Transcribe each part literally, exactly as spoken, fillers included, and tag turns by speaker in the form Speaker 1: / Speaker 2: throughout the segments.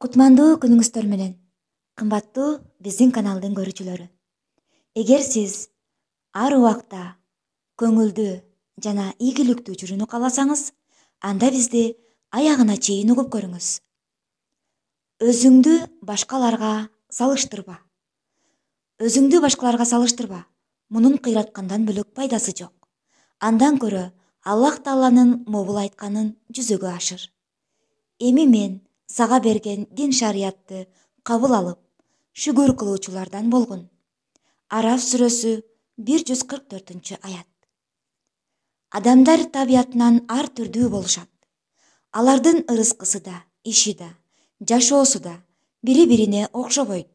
Speaker 1: Кутмандуу күнүңүздөр менен, кымбаттуу биздин каналдын көрүүчүлөрү. Эгер сиз ар убакта көңүлдүү жана ийгиликтүү жүрүүнү кааласаңыз, анда бизди аягына чейин угуп көрүңүз. Өзүңдү башкаларга салыштырба. Өзүңдү башкаларга салыштырба. Мунун кыйраткандан бөлөк пайдасы жок. Андан көрө Аллах Тааланын могул айтканын жүзөгө ашыр. Эми мен сага берген дин шариятты кабыл алып, шүгүр кылуучулардан болгун. Араф сүрөсү бир жүз кырк төртүнчү аят. Адамдар табиятынан ар түрдүү болушат. Алардын ырыскысы да, иши да, жашоосу да бири-бирине окшобойт.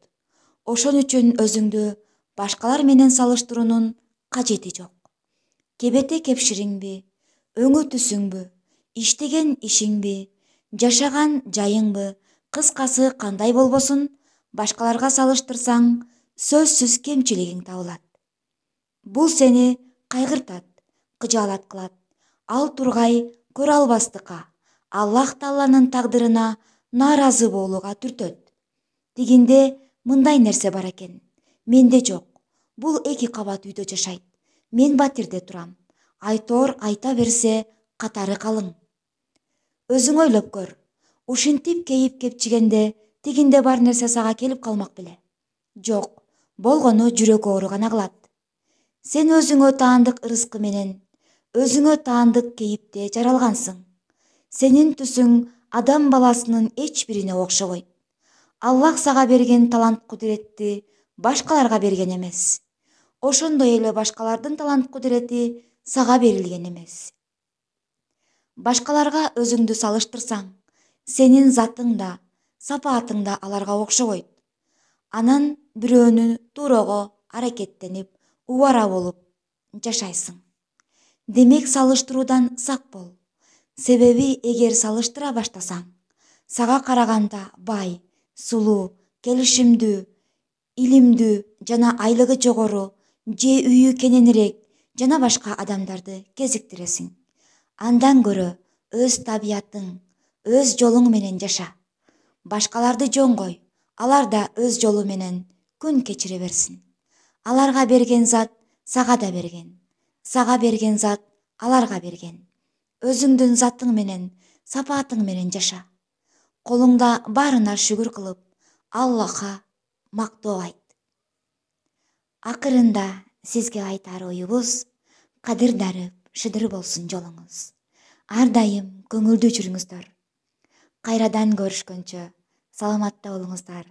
Speaker 1: Ошон үчүн өзүңдү башкалар менен салыштыруунун кажети жок. Кебете кепшириңби, өңү түсүңбү, иштеген ишиңби, жашаган жайыңбы, кыскасы кандай болбосун, башкаларга салыштырсаң, сөзсүз кемчилигиң табылат. Бул сени кайгыртат, кыжаалат кылат. Ал тургай көрө албастыкка, Аллах Тааланын тагдырына нааразы болууга түртөт. Тигинде мындай нерсе бар экен. Менде жок. Бул эки кабат үйдө жашайт. Мен батирде турам. Айтор айта берсе, катары калың. Өзүң ойлоп көр. Ушинтип кейип кепчигенде тигинде бар нерсе сага келип калмак беле? Жок, болгону жүрөк оору гана кылат. Сен өзүңө таандык ырыскы менен, өзүңө таандык кейипте жаралгансың. Сенин түсүң адам баласынын эч бирине окшобойт. Аллах сага берген талант кудуретти башкаларга берген эмес. Ошондой эле башкалардын талант кудурети сага берилген эмес. Башкаларга өзүңдү салыштырсаң, сенин затың да, сапаатың да аларга окшобойт. Анан бирөөнү туурого аракеттенип, убара болуп жашайсың. Демек салыштыруудан сак бол. Себеби эгер салыштыра баштасаң, сага караганда бай, сулуу, келишимдүү, илимдүү жана айлыгы жогору, же үйү кененирээк жана башка адамдарды кезиктиресиң. Андан көрө өз табиятың, өз жолуң менен жаша. Башкаларды жоңгой, алар да өз жолу менен күн кечире берсин. Аларга берген зат сага да берген. Сага берген зат аларга берген. Өзүңдүн затың менен, сапаатың менен жаша. Колуңда баарына шүгүр кылып, Аллахка мактоо айт. Акырында сизге айтар оюбуз: кадыр дарып, шыдыр болсун жолуңуз. Ар дайым көңүлдүү жүрүңүздөр. Кайрадан көрүшкөнчө саламатта болуңуздар.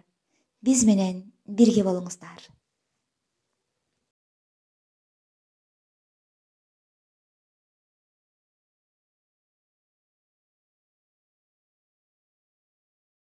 Speaker 1: Биз менен бирге болуңуздар.